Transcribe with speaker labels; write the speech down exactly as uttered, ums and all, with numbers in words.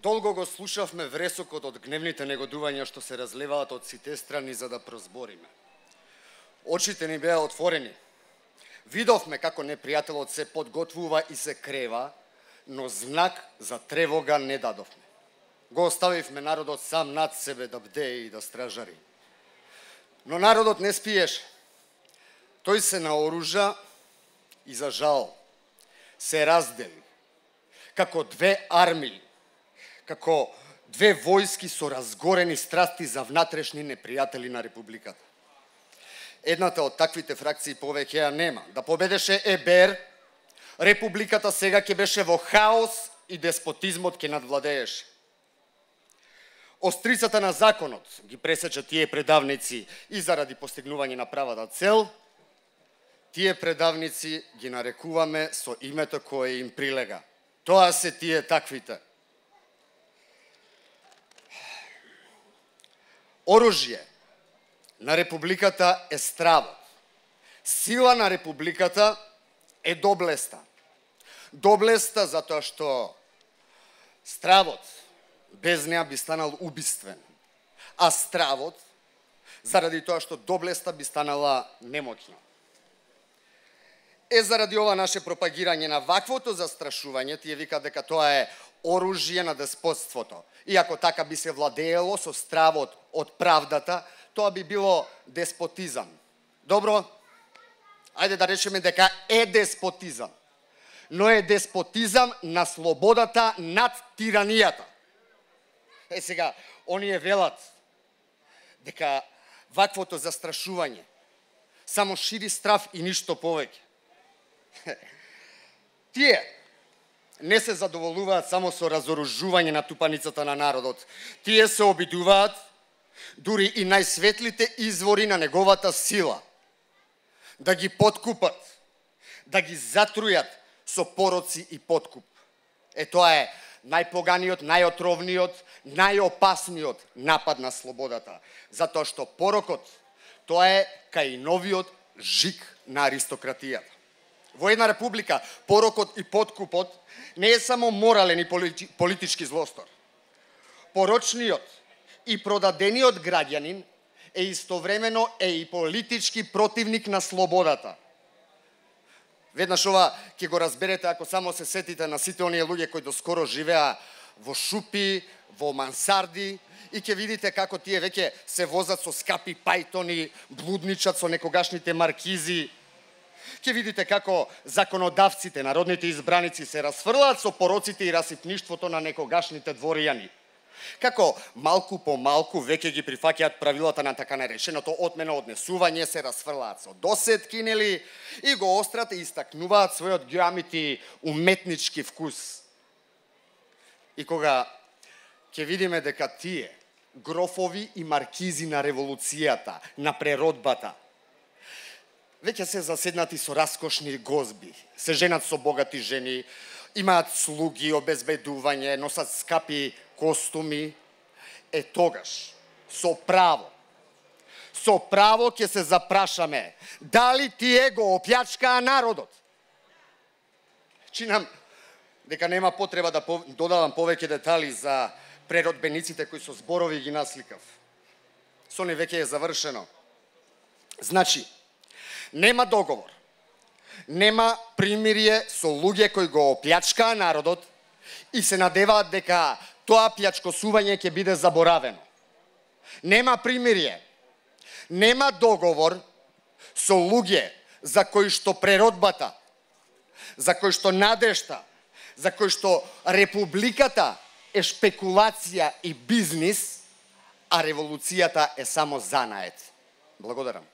Speaker 1: Долго го слушавме вресокот од гневните негодувања што се разлеваат од сите страни за да прозбориме. Очите ни беа отворени. Видовме како непријателот се подготвува и се крева, но знак за тревога не дадовме. Го оставивме народот сам над себе да бдее и да стражари. Но народот не спиеше. Тој се наоружа и за жал се раздели како две армии, како две војски со разгорени страсти за внатрешни непријатели на републиката. Едната од таквите фракции повеќе ја нема. Да победеше ЕБЕР, републиката сега ќе беше во хаос и деспотизмот ќе надвладееше. Острицата на законот ги пресече тие предавници и заради постигнување на правата цел, тие предавници ги нарекуваме со името кое им прилега. Тоа се тие таквите. Оружје на републиката е стравот. Сила на републиката е доблеста. Доблеста затоа што стравот без неа би станал убиствен, а стравот заради тоа што доблеста би станала немоќна. Е, заради ова наше пропагирање на ваквото застрашување, тие викаат дека тоа е оружје на деспотството. И ако така би се владеело со стравот од правдата, тоа би било деспотизам. Добро, ајде да речеме дека е деспотизам, но е деспотизам на слободата над тиранијата. Е, сега, оние велат дека ваквото застрашување само шири страв и ништо повеќе. Тие не се задоволуваат само со разоружување на тупаницата на народот. Тие се обидуваат дури и најсветлите извори на неговата сила да ги подкупат, да ги затрујат со пороци и подкуп. Е, тоа е најпоганиот, најотровниот, најопасниот напад на слободата. Затоа што порокот, тоа е кај новиот жик на аристократијата. Во една република порокот и подкупот не е само морален и политички злостор. Порочниот и продадениот граѓанин е истовремено е и политички противник на слободата. Веднаш ова ќе го разберете ако само се сетите на сите оние луѓе кои доскоро живеа во шупи, во мансарди и ќе видите како тие веќе се возат со скапи пајтони, блудничат со некогашните маркизи. Ќе видите како законодавците, народните избраници се расфрлаат со пороците и расипништвото на некогашните дворијани. Како малку по малку веќе ги прифаќаат правилата на така нареченото отмено однесување, се расфрлаат со досетки, нели, и го острат и истакнуваат својот геомети уметнички вкус. И кога ќе видиме дека тие грофови и маркизи на револуцијата, на преродбата, веќе се заседнати со раскошни гозби, се женат со богати жени, имаат слуги, обезбедување, носат скапи костуми, е тогаш, со право, со право ќе се запрашаме, дали тие го опјачкаа народот? Чинам дека нема потреба да додавам повеќе детали за преродбениците кои со зборови ги насликав. Со не веќе е завршено. Значи, нема договор, нема примирие со луѓе кои го опјачкаа народот и се надеваат дека тоа плјачкосување ќе биде заборавено. Нема примирие, нема договор со луѓе за кои што преродбата, за кои што надежта, за кои што републиката е шпекулација и бизнис, а револуцијата е само занает. Благодарам.